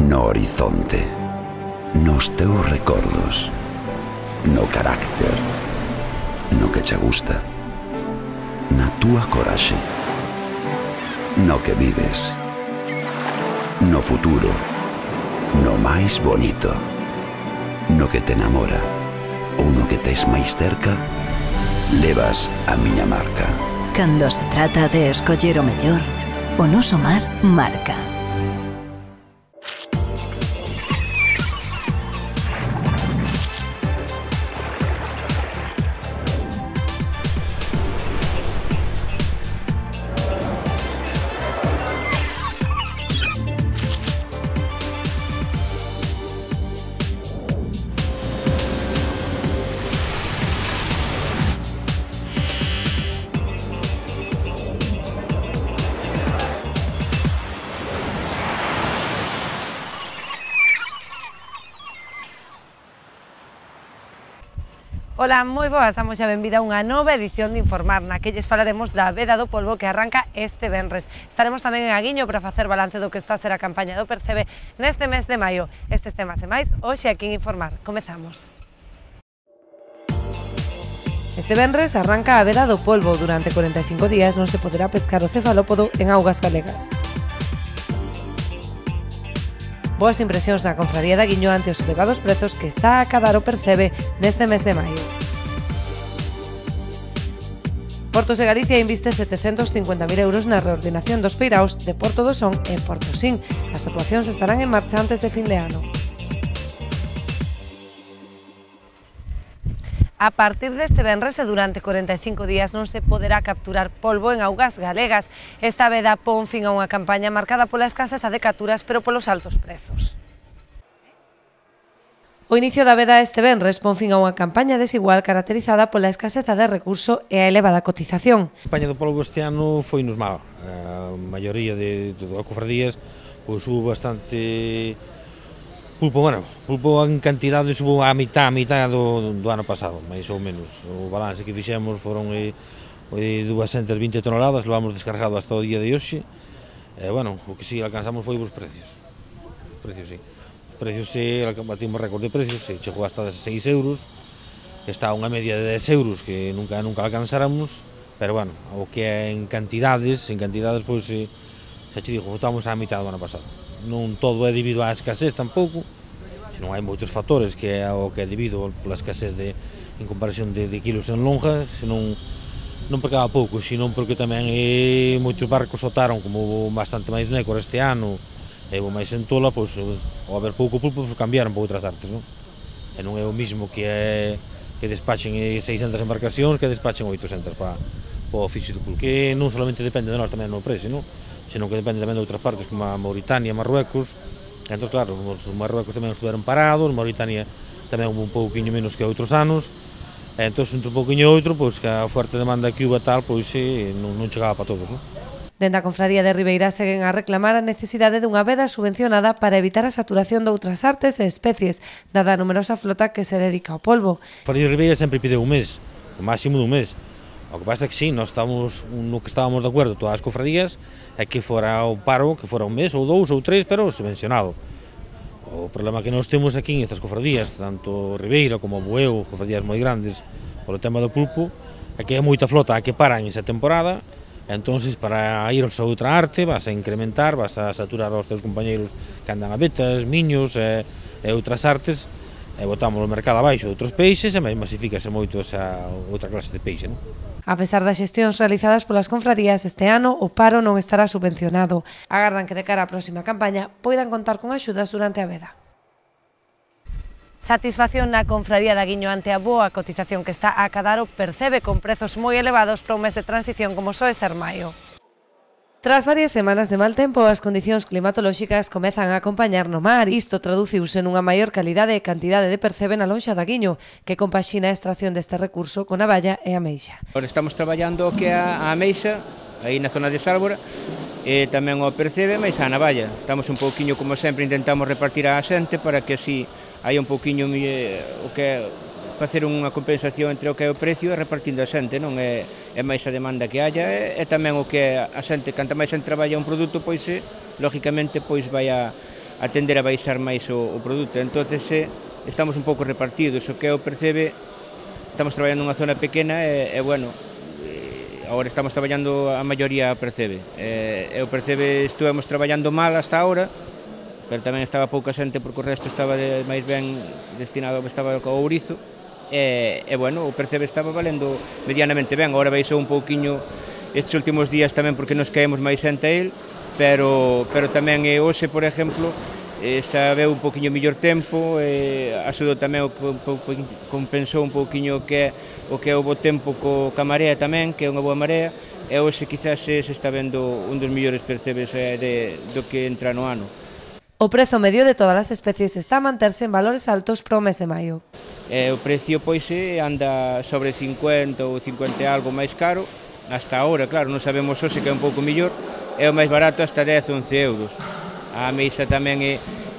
no horizonte, nos teus recordos, no carácter, no que che gusta, na túa coraxe, no que vives, no futuro, no máis bonito, no que te enamora ou no que tes máis cerca, levas a miña marca. Cando se trata de escoller o mellor, o noso mar marca. Ola, moi boas, damos a benvida a unha nova edición de Informar, na que lles falaremos da veda do polvo que arranca este venres. Estaremos tamén en Aguiño para facer balance do que está a ser a campaña do Percebe neste mes de maio. Estes temas e máis, hoxe aquí en Informar. Comezamos. Este venres arranca a veda do polvo. Durante 45 días non se poderá pescar o cefalópodo en augas galegas. Boas impresións na confraría de Aguiño ante os elevados prezos que está a acadar o Percebe neste mes de maio. Portos de Galicia inviste 750.000 euros na reordenación dos peiraos de Porto do Son e Portosín. As actuacións estarán en marcha antes de fin de ano. A partir deste venres e durante 45 días non se poderá capturar polvo en augas galegas. Esta veda pon fin a unha campaña marcada pola escaseza de capturas, pero polos altos prezos. O inicio da veda este venres pon fin a unha campaña desigual caracterizada pola escaseza de recurso e a elevada cotización. A campaña do polvo este ano foi nos mal. A maioría de cofradías pois hubo bastante pulpo, pulpo en cantidade subo a mitad do ano pasado, máis ou menos. O balance que fixemos foron 220 toneladas, levamos descargado hasta o día de hoxe. O que si alcanzamos foi os precios. Os precios, sí. Os precios, batimos récord de precios, chegou hasta 16 euros, que está a unha media de 10 euros que nunca alcanzáramos, pero o que é en cantidades, pois, xa te digo, votamos a mitad do ano pasado. Non todo é debido á escasez tampouco, senón hai moitos factores que é o que é debido pola escasez en comparación de kilos en lonja, senón non porque haga pouco, senón porque tamén moitos barcos soltaron, como houve bastante máis nécor este ano, e houve máis en tola, pois, ao haber pouco pulpo, cambiaron para outras artes, non? E non é o mismo que despachen 600 embarcacións que despachen 800 para o oficio do pulpo, que non solamente depende de nós tamén no precio, non? Senón que depende tamén de outras partes como a Mauritania, Marruecos. Entón, claro, os Marruecos tamén estiveron parados, Mauritania tamén un pouquinho menos que outros anos. Entón, entre un pouquinho e outro, pois que a fuerte demanda que hubo tal, pois non chegaba para todos, non? Dende a confraría de Ribeira seguen a reclamar a necesidade dunha veda subvencionada para evitar a saturación de outras artes e especies, dada a numerosa flota que se dedica ao polvo. A confraría de Ribeira sempre pide un mes, o máximo dun mes. O que pasa é que sí, nós estamos no que estábamos de acordo todas as cofradías é que fora o paro, que fora un mes ou dous ou tres, pero subvencionado. O problema que nós temos aquí nestas cofradías, tanto Ribeira como Bueu, cofradías moi grandes, polo tema do pulpo, é que é moita flota a que paran esa temporada, entón, para ir a outra arte, vas a incrementar, vas a saturar aos teus compañeiros que andan a vetas, miños e outras artes, e botamos o mercado abaixo de outros peixes e masifícase moito esa outra clase de peixe, non? A pesar das xestións realizadas polas confrarías este ano, o paro non estará subvencionado. Agardan que de cara á próxima campaña poidan contar con axudas durante a veda. Satisfacción na confraría de Aguiño ante a boa cotización que está a acadar o Percebe con prezos moi elevados para un mes de transición como soe ser maio. Tras varias semanas de mal tempo, as condicións climatolóxicas comezan a acompañar no mar. Isto traduciuse nunha maior calidade e cantidade de Percebe na lonxa de Aguiño, que compaxina a extracción deste recurso con a balla e a meixa. Estamos traballando o que é a meixa, aí na zona de Sálvora, e tamén o Percebe, mais a navalla. Estamos un pouquiño, como sempre, intentamos repartir a xente para que así hai un pouquiño o que é facer unha compensación entre o que é o precio e repartindo a xente, non é máis a demanda que haya e tamén o que a xente, canta máis xente traballa un produto, pois lógicamente pois vai a tender a baixar máis o produto. Entón, estamos un pouco repartidos. O que o Percebe, estamos traballando nunha zona pequena e bueno, agora estamos traballando a maioría a Percebe. O Percebe estuvemos traballando mal hasta ahora, pero tamén estaba pouca xente porque o resto estaba máis ben destinado ao que estaba ao ourizo. E bueno, o Percebe estaba valendo medianamente ben. Agora baixou un pouquiño estes últimos días tamén porque nos caemos máis xente a él, pero tamén hoxe, por exemplo, xa veu un pouquiño mellor tempo, axudou tamén, compensou un pouquiño o que é o bo tempo ca marea tamén, que é unha boa marea, e hoxe quizás se está vendo un dos mellores percebes do que entra no ano. O prezo medio de todas as especies está a manterse en valores altos para o mes de maio. O precio pois anda sobre 50 ou 50 e algo máis caro, hasta ahora, claro, non sabemos hoxe que é un pouco mellor, é o máis barato hasta 10 ou 11 euros. A ameixa tamén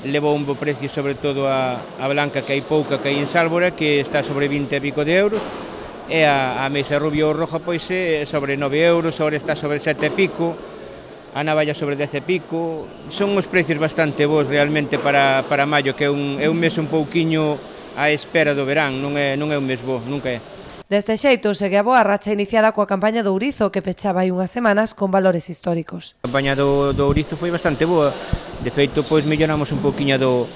levou un bo precio, sobre todo a blanca, que hai pouca, que hai en Sálvora, que está sobre 20 e pico de euros, e a ameixa rubia ou roja pois sobre 9 euros, agora está sobre 7 e pico, a navalla sobre 10 e pico. Son uns precios bastante bons realmente para maio, que é un mes un pouquiño á espera do verán, non é un mes bo, nunca é. Deste xeito, segue a boa racha iniciada coa campaña do ourizo, que pechaba hai unhas semanas con valores históricos. A campaña do ourizo foi bastante boa. De feito, pois melloramos un pouquiño do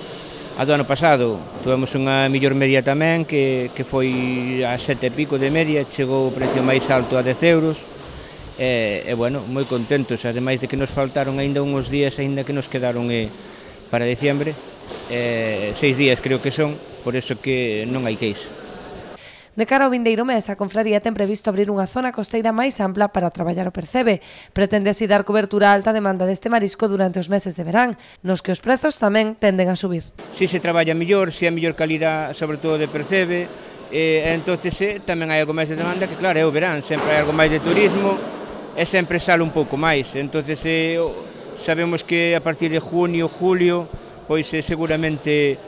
ano pasado. Tuvemos unha mellor media tamén, que foi a 7 e pico de media, chegou o precio máis alto a 10 euros. E bueno, moi contentos, ademais de que nos faltaron aínda uns días, aínda que nos quedaron para diciembre, 6 días creo que son, por eso que non hai queixa. De cara ao vindeiro mes, a confraría ten previsto abrir unha zona costeira máis ampla para traballar o Percebe. Pretende así dar cobertura á alta demanda deste marisco durante os meses de verán, nos que os prezos tamén tenden a subir. Si se traballa mellor, si é mellor calidad, sobre todo de Percebe, entonces tamén hai algo máis de demanda, que claro, é o verán, sempre hai algo máis de turismo, e sempre sale un pouco máis. Entonces sabemos que a partir de junio, julio, pois seguramente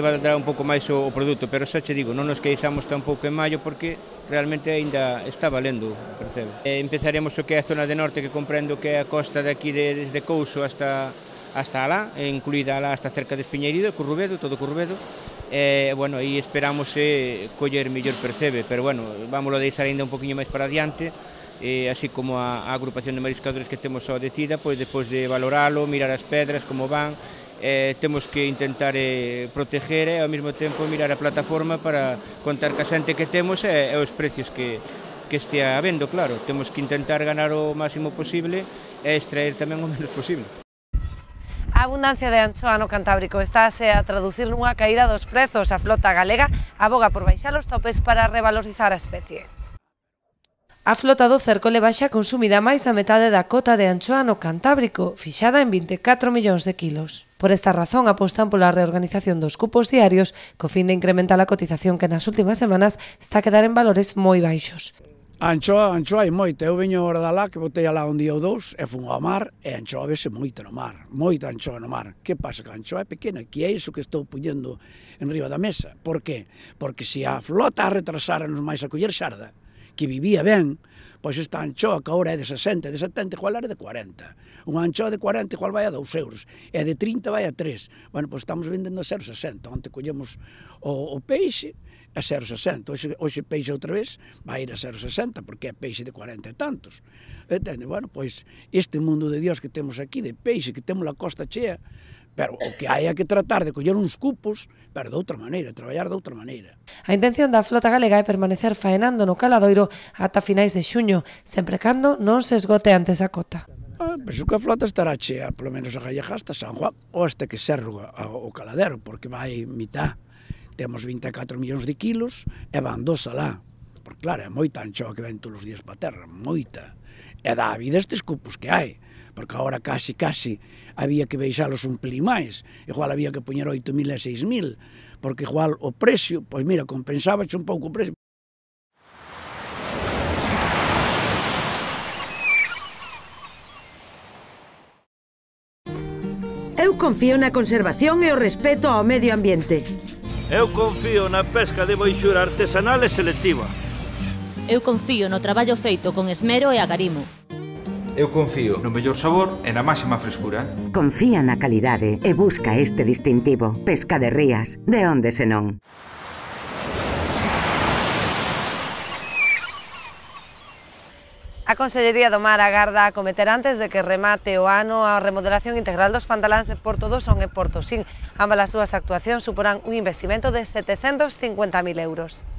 valdrá un pouco máis o produto, pero xa che digo, non nos queixamos tampouco en maio porque realmente aínda está valendo, Percebe. Empezaremos o que é a zona de norte, que comprendo que é a costa de aquí desde Couso hasta alá, incluída alá hasta cerca de Espiñeirido, Currubedo, todo Currubedo. Bueno, aí esperamos coller mellor Percebe, pero bueno, vámoslo deixar aínda un poquinho máis para adiante, así como a agrupación de mariscadores que temos ao decida, pois depois de valoralo, mirar as pedras, como van, temos que intentar proteger e ao mesmo tempo mirar a plataforma para contar ca xente que temos e os precios que estea habendo, claro. Temos que intentar ganar o máximo posible e extraer tamén o menos posible. A abundancia de anchoa no Cantábrico estáse a traducir nunha caída dos prezos. A flota galega aboga por baixar os topes para revalorizar a especie. A flota do cerco leva xa consumida máis da metade da cota de anchoa no Cantábrico, fixada en 24 millóns de kilos. Por esta razón apostan pola reorganización dos cupos diarios, co fin de incrementar a cotización que nas últimas semanas está a quedar en valores moi baixos. A anchoa hai moita. Eu veño agora da lá, que botei alá un día ou dous, e fun ao mar, e a anchoa vese moita no mar, moita anchoa no mar. Que pasa? Que a anchoa é pequena, que é iso que estou puñendo en riba da mesa. Por que? Porque se a flota a retrasáramos máis a coller xarda, que vivía ben, pois esta anchoa que agora é de 60, de 70, igual era de 40. Unha anchoa de 40 igual vai a 2 euros, e de 30 vai a 3. Bueno, pois estamos vendendo a 0,60. Onte collemos o peixe a 0,60. Hoxe peixe outra vez vai ir a 0,60, porque é peixe de 40 e tantos. Entende? Bueno, pois este mundo de Dios que temos aquí, de peixe, que temos a costa chea, pero o que hai que tratar de coller uns cupos, pero de outra maneira, traballar de outra maneira. A intención da flota galega é permanecer faenando no caladoiro ata finais de xuño, sempre cando non se esgote antes a cota. Penso que a flota estará chea, polo menos a Gallega hasta San Juan, ou hasta que serva o caladero, porque vai mitad. Temos 24 millóns de kilos e van 2 alá. Porque claro, é moita anchoa que ven todos os días para a terra, moita. E dá a vida estes cupos que hai, porque agora casi había que baixalos un pelín máis, igual había que poñer 8.000 e 6.000, porque igual o precio, pois mira, compensábache un pouco o precio. Eu confío na conservación e o respeto ao medio ambiente. Eu confío na pesca de boixura artesanal e selectiva. Eu confío no traballo feito con esmero e agarimo. Eu confío no mellor sabor e na máxima frescura. Confía na calidade e busca este distintivo. Pesca de Rías, de onde senón. A Consellería do Mar agarda a cometer antes de que remate o ano a remodelación integral dos pantaláns de Porto do Son e Porto Sin. Ambas as súas actuacións suporán un investimento de 750.000 euros.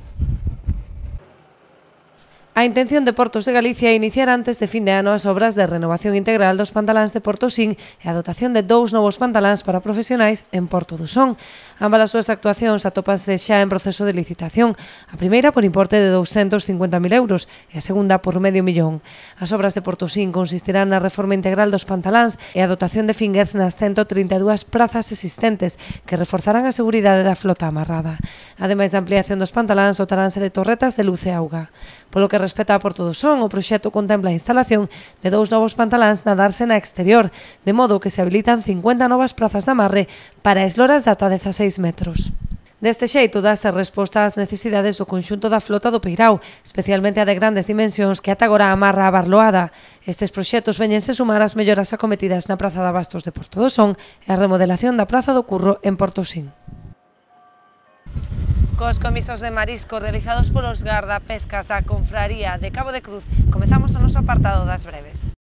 A intención de Portos de Galicia é iniciar antes de fin de ano as obras de renovación integral dos pantaláns de Porto Sin e a dotación de 2 novos pantaláns para profesionais en Porto do Son. Ambas as súas actuacións atópanse xa en proceso de licitación, a primeira por importe de 250.000 euros e a segunda por $500.000. As obras de Porto Sin consistirán na reforma integral dos pantaláns e a dotación de fingers nas 132 prazas existentes que reforzarán a seguridade da flota amarrada. Ademais da ampliación dos pantaláns, dotaránse de torretas de luz e auga. Polo que respecta a Porto do Son, o proxecto contempla a instalación de 2 novos pantaláns na dársena exterior, de modo que se habilitan 50 novas prazas de amarre para esloras de ata 16 metros. Deste xeito, dáse resposta ás necesidades do conxunto da flota do Peirao, especialmente a de grandes dimensións que ata agora amarra a Barloada. Estes proxectos veñense sumar as melloras acometidas na Praza de Abastos de Porto do Son e a remodelación da Praza do Curro en Porto Sin. Cos comisos de marisco realizados polos gardapescas da Confraría de Cabo de Cruz, comezamos o noso apartado das breves.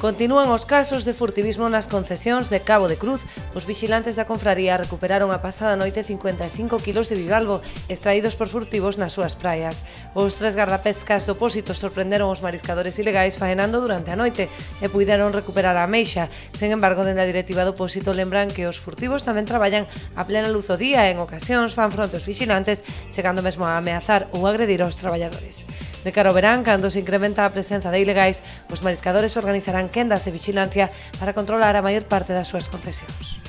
Continúan os casos de furtivismo nas concesións de Cabo de Cruz. Os vixilantes da confraría recuperaron a pasada noite 55 kilos de bivalvo extraídos por furtivos nas súas praias. Os 3 gardapescas opósitos sorprenderon os mariscadores ilegais faenando durante a noite e puideron recuperar a ameixa. Sen embargo, dende a directiva do opósito lembran que os furtivos tamén traballan a plena luz do día e en ocasións fan fronte aos vixilantes, chegando mesmo a ameazar ou agredir aos traballadores. De cara ao verán, cando se incrementa a presenza de ilegais, os mariscadores organizarán quendas de vigilancia para controlar a maior parte das súas concesións.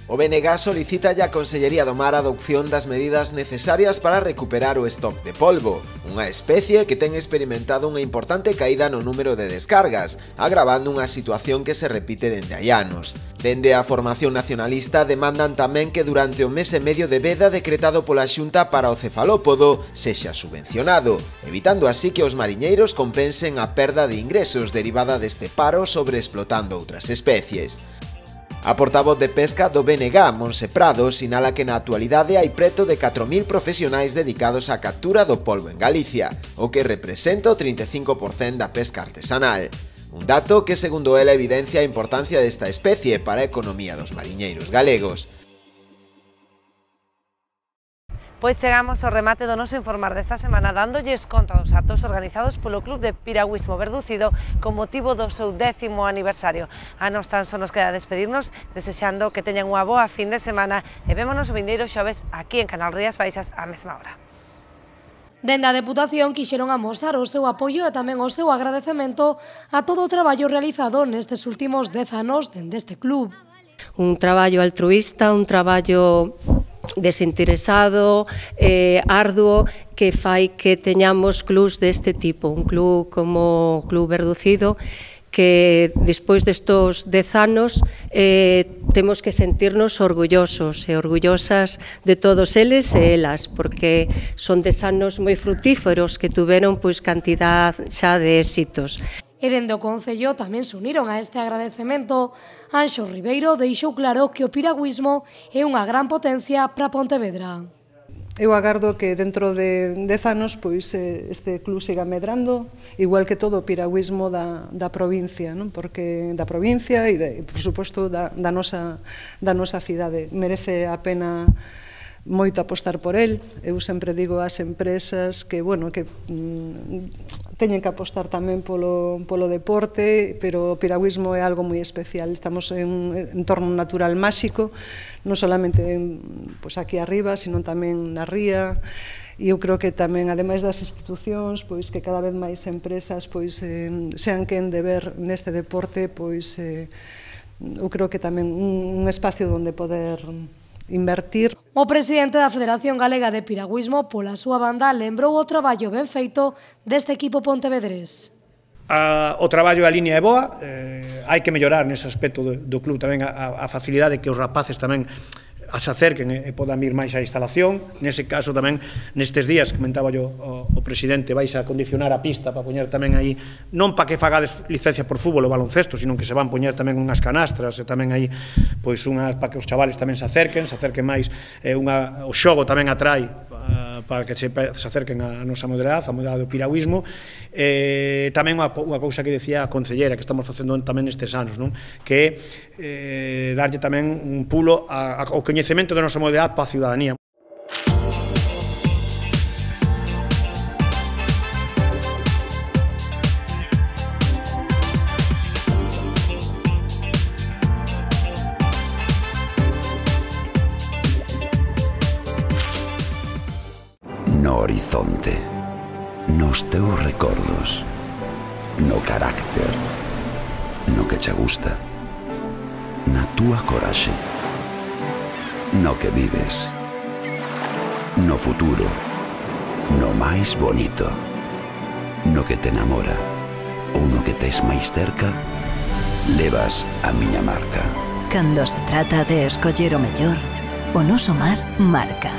O BNG solicita a Consellería do Mar a adopción das medidas necesarias para recuperar o stock de polvo, unha especie que ten experimentado unha importante caída no número de descargas, agravando unha situación que se repite dende hai anos. Dende a formación nacionalista demandan tamén que durante o mes e medio de veda decretado pola Xunta para o cefalópodo sexa subvencionado, evitando así que os mariñeiros compensen a perda de ingresos derivada deste paro sobre explotando outras especies. A portavoz de pesca do BNG, Monse Prado, sinala que na actualidade hai preto de 4.000 profesionais dedicados á captura do polvo en Galicia, o que representa o 35% da pesca artesanal. Un dato que, segundo ela, evidencia a importancia desta especie para a economía dos mariñeiros galegos. Pois chegamos ao remate do noso informar desta semana dándolles conta dos actos organizados polo Club de Piragüismo Verducido con motivo do seu 10º aniversario. A nos tan só nos queda despedirnos desexando que teñan unha boa fin de semana e vémonos o vindeiro xoves aquí en Canal Rías Baixas á mesma hora. Dende a Deputación quixeron amosar o seu apoio e tamén o seu agradecemento a todo o traballo realizado nestes últimos 10 anos dende este club. Un traballo altruísta, un traballo desinteresado, arduo, que fai que teñamos clubs deste tipo, un club como o Club Verducido, que despois destos 10 anos temos que sentirnos orgullosos e orgullosas de todos eles e elas, porque son 10 anos moi frutíferos que tuveron pois cantidad xa de éxitos. E dende o Concello tamén se uniron a este agradecemento. Anxo Ribeiro deixou claro que o piragüismo é unha gran potencia para Pontevedra. Eu agardo que dentro de 10 anos pois este club siga medrando, igual que todo o piragüismo da provincia, non? Porque da provincia e, por suposto, da nosa cidade. Merece a pena moito apostar por el. Eu sempre digo ás empresas que, bueno, que teñen que apostar tamén polo deporte, pero o piragüismo é algo moi especial. Estamos en un entorno natural máxico, non solamente pois aquí arriba, sino tamén na ría. E eu creo que tamén, ademais das institucións, pois que cada vez máis empresas pois sean quen de ver neste deporte, pois eu creo que tamén un espacio onde poder invertir. O presidente da Federación Galega de Piragüismo, pola súa banda, lembrou o traballo ben feito deste equipo pontevedrés. O traballo e a línea é boa, hai que mellorar nese aspecto do club tamén a facilidade que os rapaces tamén as acerquen e podan vir máis á instalación. Nese caso tamén, nestes días, comentaba yo o presidente, vais a condicionar a pista para poñer tamén aí, non para que fagades licencia por fútbol ou baloncesto, sino que se van poñer tamén unhas canastras e tamén aí, pois unhas para que os chavales tamén se acerquen máis, o xogo tamén atrae para que se acerquen a nosa modalidade, a modalidade do piragüismo. Tamén unha cousa que decía a concellera que estamos facendo tamén nestes anos, que é darlle tamén un pulo ao coñecemento da nosa modalidade para a ciudadanía. No horizonte, nos teus recordos, no carácter, no que che gusta, na túa coraxe, no que vives, no futuro, no máis bonito, no que te enamora ou no que tes máis cerca, levas a miña marca. Cando se trata de escoller o mellor, o noso mar marca.